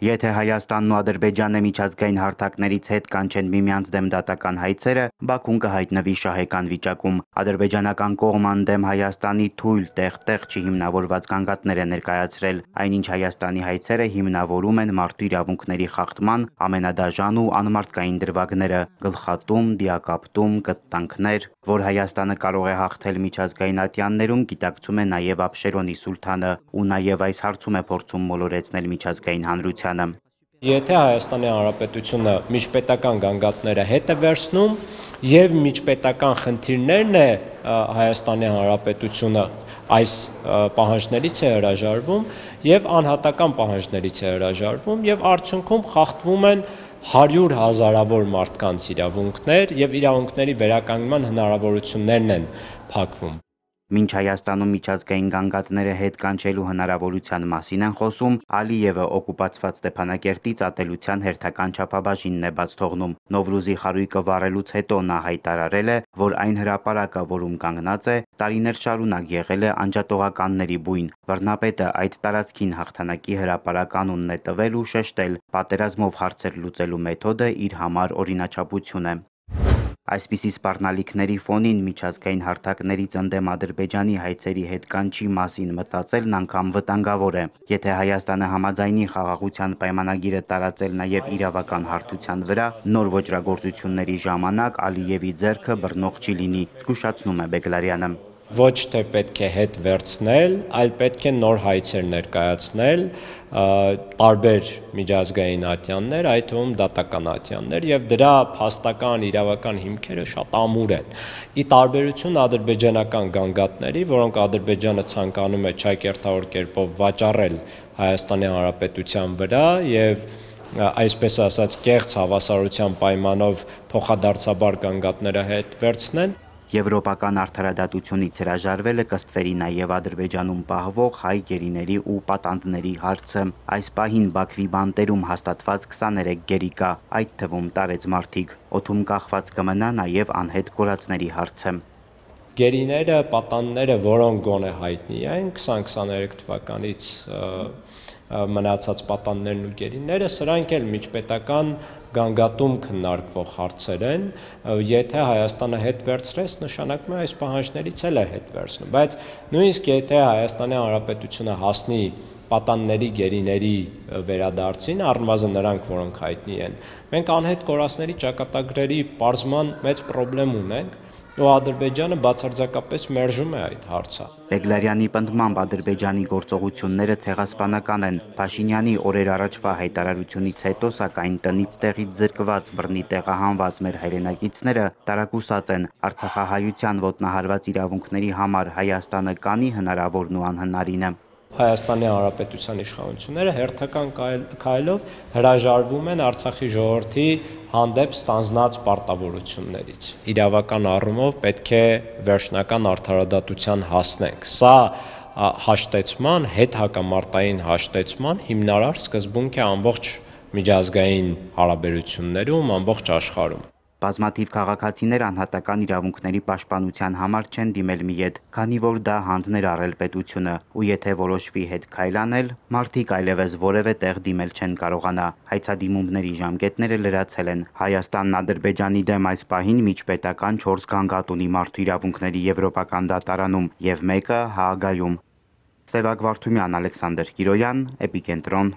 Եթե Հայաստանն ու Ադրբեջանը միջազգային հարթակներից հետ կանչեն միմյանց դեմ դատական հայցերը, Բաքուն կհայտնվի շահեկան վիճակում։ Ադրբեջանական կողմը ընդդեմ Հայաստանի թույլ տեղ-տեղ չհիմնավորված գանգատներ է ներկայացրել, այնինչ Հայաստանի հայցերը հիմնավորում են մարդու իրավունքների խախտման ամենադաժան ու անմարդկային դրվագները՝ գլխատում, դիակապտում, կտտանքներ, որ Հայաստանը կարող է հաղթել միջազգային ատյաններում, գիտակցում է նաև Աբշերոնի սուլթանը ու նաև այս հարցում է փորձում մոլորեցնել միջազգային հանրությանը։ Եթե Հայաստանի Հանրապետությունը միջպետական գանգատները հետ է վերցնում եւ միջպետական խնդիրներն է Հայաստանի Հանրապետությունը այս պահանջներից է հրաժարվում եւ անհատական պահանջներից է հրաժարվում եւ արդյունքում խախտվում են 100 հազարավոր մարդկանց իրավունքներ եւ իրավունքների վերականգնման հնարավորություններն են փակվում։ Մինչ Հայաստանում միջազգային գանգատները հետ կանչելու հնարավորության մասին են խոսում, Ալիևը օկուպացված Ստեփանակերտից ատելության հերթական չափաբաժինն է բաց թողնում։ Նովրուզի խարույկը վառելուց հետո նա հայտարարել է, որ այն հրապարակը, որում կանգնած է, տարիներ շարունակ եղել է անջատողականների բույն։ Վռնապետը այդ տարածքին հաղթանակի հրապարակ անունն է տվել ու շեշտել՝ պատերազմով հարցեր լուծելու մեթոդը իր համար օրինաչափություն է։ Այսպիսի սպառնալիքների ֆոնին միջազգային հարթակներից ընդդեմ Ադրբեջանի հայցերի հետ կանչի մասին մտածելն անգամ վտանգավոր է։ Եթե Հայաստանը համաձայնի խաղաղության պայմանագիրը տարածել նաև իրավական հարթության վրա, նոր ոճրագործությունների ժամանակ Ալիևի ձեռքը բռնող չի լինի, զգուշացնում է Բեգլարյանը։ Ոչ թե պետք է հետ վերցնել, այլ պետք է նոր հայցեր ներկայացնել, տարբեր միջազգային ատյաններ, այդ թվում դատական ատյաններ, եւ դրա փաստական իրավական հիմքերը շատ ամուր են։ Ի տարբերություն ադրբեջանական գանգատների, որոնք Ադրբեջանը ցանկանում է չակերտավոր կերպով վաճառել Հայաստանի Հանրապետության վրա եւ այսպես ասած կեղծ հավասարության պայմանով փոխադարձաբար գանգատները հետ վերցնեն։ Եվրոպական արդարադատությունից հրաժարվելը կստվերի նաև Ադրբեջանում պահվող հայ գերիների ու պատանդների հարցը։ Այս պահին Բաքվի բանտերում հաստատված 23 գերի կա, այդ թվում տարեց մարդիկ։ Օդում կախված կմնա նաև անհետ կորածների հարցը։ Գերիները, պատանդները, որոնք գոնե հայտնի են 2023 թվականից մնացած պատանդներն ու գերիները, սրանք էլ միջպետական գանգատում քննարկվող հարցեր են, եթե Հայաստանը հետ վերցրեց, նշանակում է այս պահանջներից էլ է հետ վերցնում, բայց նույնիսկ եթե Հայաստանի Հանրապետությունը հասնի պատանդների գերիների վերադարձին, առնվազն նրանք, որոնք հայտնի են, մենք անհետ կորածների ճակատագրերի պարզման մեծ խնդրեմ ունենք, ու Ադրբեջանը բացարձակապես մերժում է այդ հարցը։ Բեգլարյանի պնդմամբ Ադրբեջանի գործողությունները ցեղասպանական են։ Փաշինյանի օրեր առաջվա հայտարարությունից հետո, սակայն տնից տեղից զրկված, բռնի տեղահանված մեր հայրենակիցները տարակուսած են։ Արցախահայության ոտնահարված իրավունքների համար Հայաստանը կանի հնարավորն ու անհնարինը։ Հայաստանի Հանրապետության իշխանությունները հերթական քայլով հրաժարվում են Արցախի ժողովրդի հանդեպ ստանձնած պարտավորություններից։ Իրավական առումով պետք է վերջնական արդարադատության հասնենք։ Սա հաշտեցման, հետհակամարտային հաշտեցման հիմնարար սկզբունք է ամբողջ միջազգային հարաբերություններում, ամբողջ աշխարհում։ Բազմաթիվ քաղաքացիներ անհատական իրավունքների պաշտպանության համար չեն դիմել մի ետ, քանի որ դա հանձն էր առել պետությունը, ու եթե որոշվի հետ քայլ անել, մարդիկ այլևս որևէ տեղ դիմել չեն կարողանա։ Հայցադիմումների ժամկետները լրացել են։ Հայաստանն Ադրբեջանի դեմ այս պահին միջպետական 4 գանգատ ունի մարդու իրավունքների եվրոպական դատարանում եւ մեկը Հաագայում։ Սևակ Վարդումյան, Ալեքսանդր Կիրոյան, Էպիկենտրոն։